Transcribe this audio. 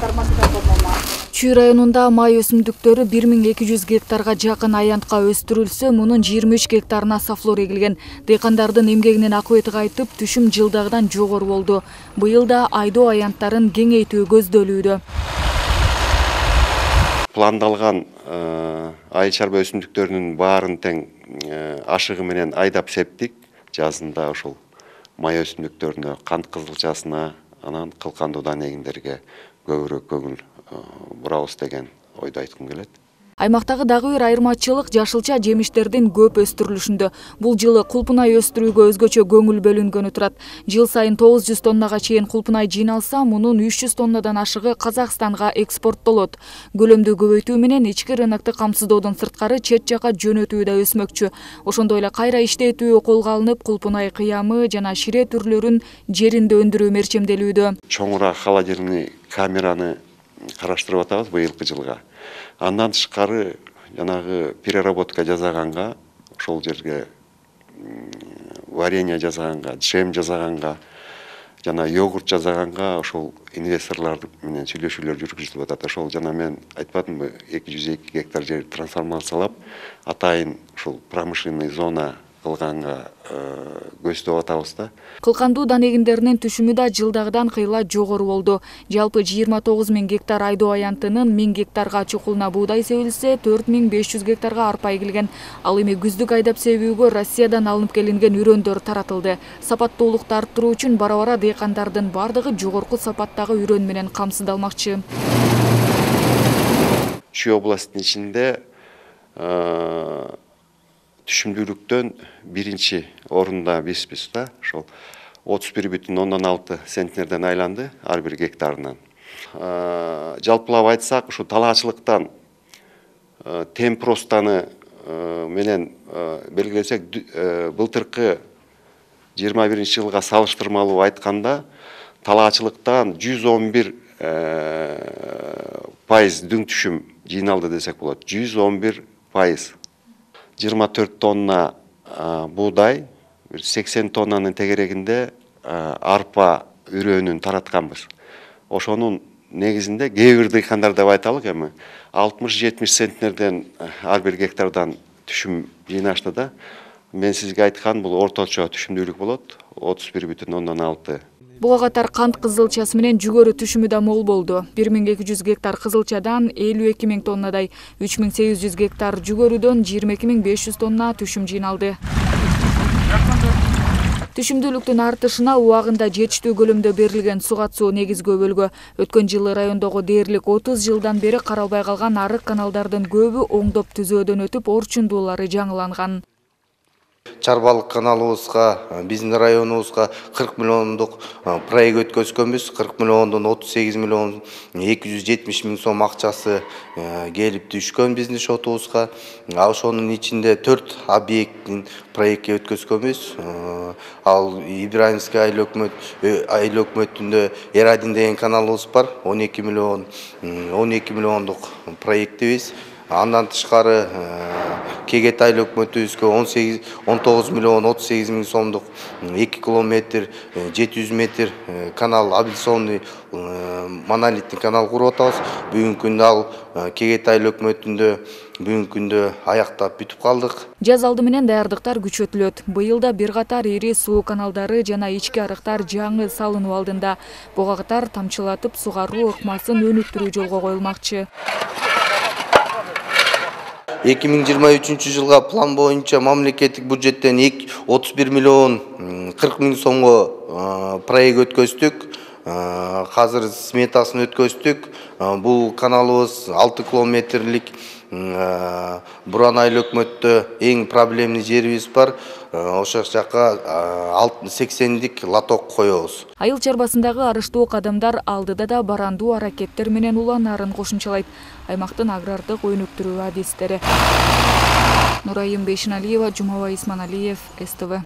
Чүй районунда май өсүмдүктөрү 1200 гектарга жакын аянтка өстүрүлсө, мунун 23 гектарына сафлор эгилген. Дыйкандардын эмгегинин акыбети кайтып, түшүм жылдагыдан жогору болду. Быйыл да айдоо аянттарын кеңейтүү көздөлүүдө. Пландалган айыл чарба өсүмдүктөрүнүн баарын тең ашыгы менен айдап септик. Жазында ошол май өсүмдүктөрүнө, кант кызылчасына, анан кылкандуудан эгиндерге көбүрөөк көңүл бурабыз деген ойду айткым келет. Аймактагы дагы бир айырмачылык жашылча жемиштердин көп өстүрүлүшүндө. Бул жылы кулпунай өстүрүүгө өзгөчө көңүл бөлүнгөнү турат. Жыл сайын 900 тоннага чейин кулпунай жыйналса, мунун 300 тоннадан ашыгы Казакстанга экспорттолот. Көлөмдү көбөйтүү менен ички рынокты камсыздоодон сырткары чет жака жөнөтүү да өсмөкчү. Ошондой эле кайра иштетүү колго алынып, кулпунай кыямы жана шире түрлөрүн жеринде өндүрүү мерчемделүүдө. Чоңураак холодильный камераны караштырып атабыз быйылкы жылга. Андан тышкары жанагы переработка жасаганга, ошол жерге варенье жасаганга, джем жасаганга, жана йогурт жасаганга ошол инвесторлар менен сүйлөшүүлөр жүргүзүлүп атат. Ошол жана мен айтпадымбы, 202 гектар жер трансформациялап, атайын ушул промышленный зона кылганга көздөп атабыз да. Кылкандуу дан эгиндеринин түшүмү да жылдагыдан кыйла жогору болду. Жалпы 29 000 гектар айдоо аянтынын 1000 гектарга чукулуна буудай себилсе, 4500 гектарга арпа эгилген. Ал эми күздүк айдап себүүгө Россиядан алынып келинген үрөндөр таратылды. Сапаттуулукту арттыруу үчүн бара-бара дыйкандардын бардыгы жогорку сапаттагы үрөн менен камсыздалмакчы. Чүй областынын ичинде түшүмдүүлүктөн биринчи орунда бизбиз да. Ошол 31,6 центнерден айланды ар бир гектарынан. Жалпылап айтсак, ушу талаачылыктан темп ростаны менен белгилесек, былтыркы 21-жылга салыштырмалуу айтканда, талаачылыктан 111% дүң түшүм жыйналды десек болот. 111%. 24 тонна буудай, 80 тоннанын тегерегинде арпа үрөөнүн таратканбыз. Ошонун негизинде кээ бир дыйкандар деп айталык эми 60-70 центнерден ар бир гектардан түшүм жыйнашты да. Мен сизге айткан бул орточо түшүмдүүлүк болот, 31,6. Буга катар кант кызылчасы менен жүгөрү түшүмү да мол болду. 1200 гектар кызылчадан 52 000 тоннадай, 3800 гектар жүгөрүдөн 22 500 тонна түшүм жыйналды. Түшүмдүүлүктүн артышына убагында жетиштүү көлөмдө берилген суга суу негизги өбөлгө. Өткөн жылы райондогу дээрлик 30 жылдан бери каралбай калган арык каналдардын көбү оңдоп түзөөдөн өтүп, орчундуулары жаңыланган. Чарбалык каналыбызга, биздин районубузга 40 миллиондук проект өткөзгөнбүз. 40 миллиондон 38 миллион 270 миң сом акчасы келип түшкөн биздин шотубузга. Ошонун ичинде 4 объекттин проектке өткөзгөнбүз. Ал Ибраимский айыл өкмөтүндө Эр-1 деген каналыбыз бар. 12 миллиондук проектибиз. Андан тышкары Кегет айыл өкмөтүбүзгө 19 миллион 38 миң сомдук 2 километр 700 метр канал, абилсонный монолиттик канал куруп атабыз. Бүгүнкү күндө ал Кегет айыл өкмөтүндө бүгүнкү күндө аяктап бүтүп калдык. Жаз алды менен даярдыктар күчөтүлөт. Быйыл да бир катар ири суу каналдары жана ички арыктар жаңы салынуу алдында. Буга катар тамчылатып сугаруу ыкмасын өнүктүрүү жолго коюлмакчы. 2023 жылга план боюнча мамлекеттик бюджеттен 31 миллион 40 миң сомго проект өткөздүк. Азыр сметасын өткөздүк. Бул каналыбыз 6 километрлик Буран айыл өкмөттө эң проблемный жерибиз бар. Ошол жака 80дик лоток коебуз. Айыл чарбасындагы арыштуу кадамдар алдыда да барандуу аракеттер менен уланаарын кошумчалайт. Аймактын агрардык өнүктүрүү адистери. Нурайым Бейшиналиева, Жумабай Исманалиев, СТВ.